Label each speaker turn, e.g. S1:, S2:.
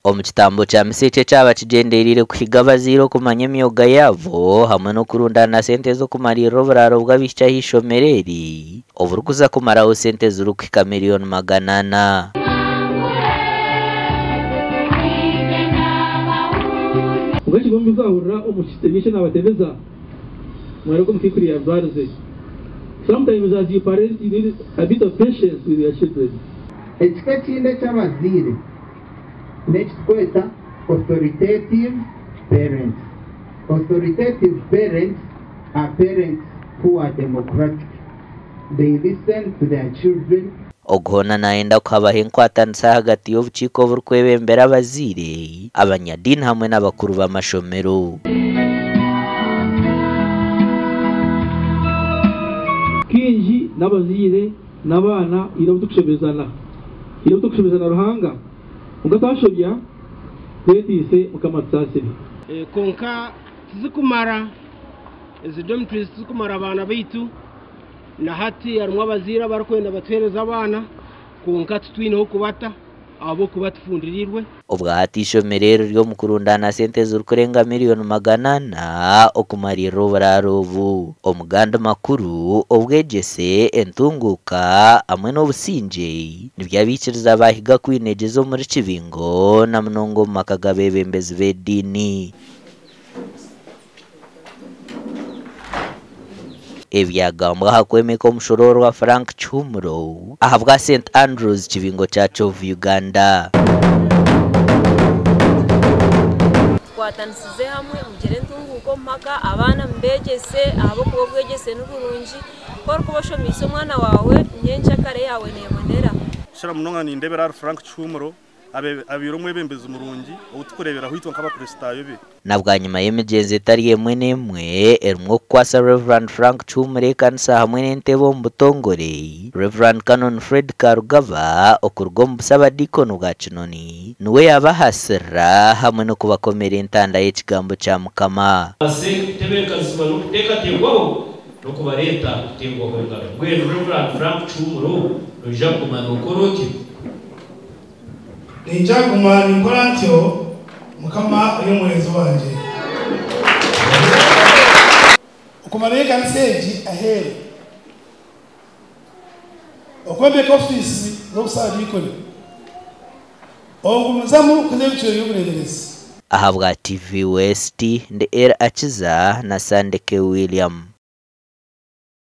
S1: Omu kitambo kya misa eki ekyaba kigyendereire kuhiga abazaire okumanya emyoga yaabo hamwe n'okurundaana sente z'okumariirira oburaaro bw'abaishiki aha ishomero eri oburikuza kumaraho sente zirikuhika miriyoni 400.
S2: Kwonka ekigombe kuzahurira omu kitebyo eki nabatebeza, mwareeba oku omukaikuru yajwarize. Sometimes as you parent you need a bit of patience with your children.
S3: Ekika ekindi eky'abazaire n'eki turikweta authoritative parents. Authoritative parents are parents who are democratic. They listen to their children.
S1: Ogu hoona nayenda ku habaho enkwatanisa ahagati y'obukiiko oburikwebembera abazaire, abanyadiini hamwe n'abakuru b'amashomero.
S2: Kaingi n'abazaire n'abaana haine obu turikushobezana. Haine obu turikushobezana Ruhanga. Kwonka twashobya, twetiise Mukama atusaasire.
S4: Kwonka tizikumara, ezi dormitories tizikumara abaana baitu. Na hati harimu abazaire abarikwenda batuheereze abaana kwonka titwine h'okubata ahabw'okuba tufundiriirwe.
S1: Obwa hati eishomero eri riri omu kurundaana sente zirikurenga miriyoni 400 okumariirira oburaaro obu. Omu gandi makuru, obwegyese, entunguuka hamwe n'obusingye nibyo abaikiriza baahiga kwinegyeza omuri Kibingo na munonga omu maka g'abeebembezi b'ediini. Ebyagambwa aha kwemeka omushoroorwa Frank Kihumuro ahabwa St Andrews Kibingo Church of Uganda.
S5: Tukwatanisize hamwe mugire entunguuka omu maka, abaana mubeegyese ahabw'okuba obwegyese ni burungi. Ku orikuba oshomeise omwana waawe, nyencakare yaawe neebonera.
S6: Kukira munonga nindeebera ahari Frank Kihumuro abaire omwebembezi murungi ou turikureeberaho itwe nk'Abakristaayo be.
S1: Na bwanyima y'emigyenzo etari emwe n'emwe erimu okukwasa Rev. Frank Kihumuro ekanisa hamwe n'entebe omu butongore, Rev. Canon Fred Karugaba okuruga omu busabadiikoni bwa Kinoni niwe yaabahasirira hamwe n'okubakomera entanda y'ekigambo kya Mukama.
S7: Babaase kutebeekanizibwa n'okuteekateekwaho n'okubareeta kuteebwaho engaro. Mbwenu Rev. Frank Kihumuro noija kuguma nookora otyo?
S8: Niinyija kuguma ninkora ntyo, Mukama ari omuhwezi wangye. Okumarayo ekanisa egi aheeru. Okwombeka ofiisi z'obusaadiikoni. Okugumizamu kuza ebicwero by'obureeberezi.
S1: Ahabwa TV West, ndi El Akiza na Sandeke William.